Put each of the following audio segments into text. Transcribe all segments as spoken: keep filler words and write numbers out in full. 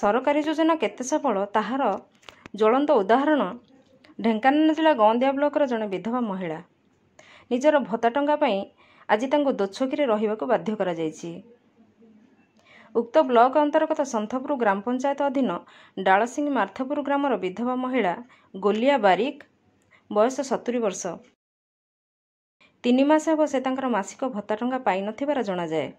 ସରକାରୀ ଯୋଜନା କେତେ ସଫଳ ତାହାର ଜ୍ୱଳନ୍ତ ଉଦାହରଣ ଢେଙ୍କାନାଳ ଜିଲ୍ଲା ଗଁଦିଆ ବ୍ଲକର ଜଣେ ବିଧବା ମହିଳା। ନିଜର ଭତ୍ତା ଟଙ୍କା ପାଇଁ ଆଜି ତାଙ୍କୁ ଦୋଛକିରେ ରହିବାକୁ ବାଧ୍ୟ କରାଯାଇଛି। ଉକ୍ତ ବ୍ଲକ ଅନ୍ତର୍ଗତ ସନ୍ଥପୁର ଗ୍ରାମ ପଞ୍ଚାୟତ ଅଧୀନ ଡାଳସିଂ ମାର୍ଥପୁର ଗ୍ରାମର ବିଧବା ମହିଳା ଗୋଲିଆ ବାରିକ, ବୟସ ସତୁରି ବର୍ଷ। ତିନି ମାସ ହେବ ସେ ତାଙ୍କର ମାସିକ ଭତ୍ତା ଟଙ୍କା ପାଇନଥିବାର ଜଣାଯାଏ।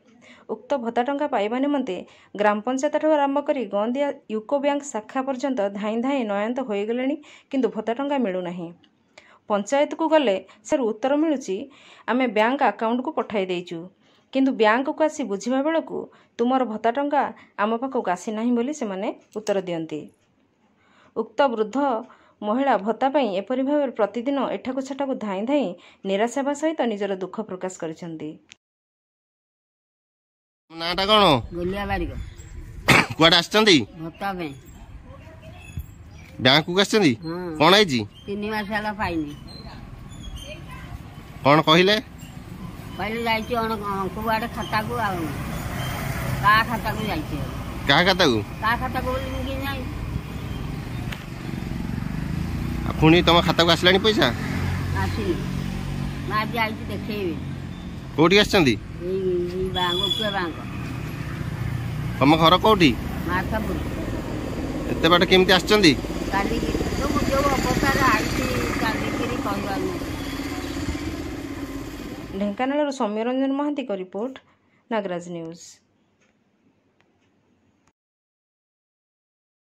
ଉକ୍ତ ଭତ୍ତା ଟଙ୍କା ପାଇବା ନିମନ୍ତେ ଗ୍ରାମ ପଞ୍ଚାୟତଠାରୁ ଆରମ୍ଭ କରି ଗଁଦିଆ ୟୁକୋ ବ୍ୟାଙ୍କ ଶାଖା ପର୍ଯ୍ୟନ୍ତ ଧାଇଁ ଧାଇଁ ନୟାନ୍ତ ହୋଇଗଲେଣି, କିନ୍ତୁ ଭତ୍ତା ଟଙ୍କା ମିଳୁନାହିଁ। ପଞ୍ଚାୟତକୁ ଗଲେ ସେରୁ ଉତ୍ତର ମିଳୁଛି, ଆମେ ବ୍ୟାଙ୍କ ଆକାଉଣ୍ଟକୁ ପଠାଇ ଦେଇଛୁ, କିନ୍ତୁ ବ୍ୟାଙ୍କକୁ ଆସି ବୁଝିବା ବେଳକୁ ତୁମର ଭତ୍ତା ଟଙ୍କା ଆମ ପାଖକୁ ଆସିନାହିଁ ବୋଲି ସେମାନେ ଉତ୍ତର ଦିଅନ୍ତି। ଉକ୍ତ ବୃଦ୍ଧ ମହିଳା ଭତ୍ତା ପାଇଁ ଏପରି ଭାବରେ ପ୍ରତିଦିନ ଏଠାକୁ ସେଠାକୁ ଧାଇଁ ଧାଇଁ ନିରାଶ ହେବା ସହିତ ନିଜର ଦୁଃଖ ପ୍ରକାଶ କରିଛନ୍ତି। ନାଁଟା କ'ଣ? ଗୋଲିଆ ବାରିକ। କୁଆଡ଼େ ଆସିଛନ୍ତି? ଭତ୍ତା ପାଇଁ। ବ୍ୟାଙ୍କକୁ ଆସିଛନ୍ତି? ହଁ। କ'ଣ ହେଇଛି? ତିନି ମାସ ହେଲା ପାଇନି। କ'ଣ କହିଲେ? କହିଲେ ଯାଇଛି ଅଣ କୁଆଡ଼େ ଖାତାକୁ, ଆଉ କାହା ଖାତାକୁ ଯାଇଛି, ଆଉ କାହା ଖାତାକୁ? କାହା ଖାତାକୁ ବୋଲି ମୁଁ କେମିତି ଜାଣିବି? ଆଉ ପୁଣି ତମ ଖାତାକୁ ଆସିଲାଣି ପଇସା? ଆସିନି। ମୁଁ ଆଜି ଆଇଛି ଦେଖେଇବି। କୋଉଠି ଆସିଛନ୍ତି? ଏଇ ଏଇ ବ୍ୟାଙ୍କ, ଉକିଆ ବ୍ୟାଙ୍କ। ତମ ଘର କୋଉଠି? ମାର୍ଥାପୁର। ଏତେ ବାଟ କେମିତି ଆସିଛନ୍ତି? ଚାଲିକି। ଯୋଉ ଯୋଉ ଅବସ୍ଥାରେ ଆଇଛି ଚାଲିକିରି କହିବାର ନାହିଁ। ଢେଙ୍କାନାଳରୁ ସୌମ୍ୟରଞ୍ଜନ ମହାନ୍ତିଙ୍କ ରିପୋର୍ଟ, ନାଗରାଜ ନ୍ୟୁଜ୍।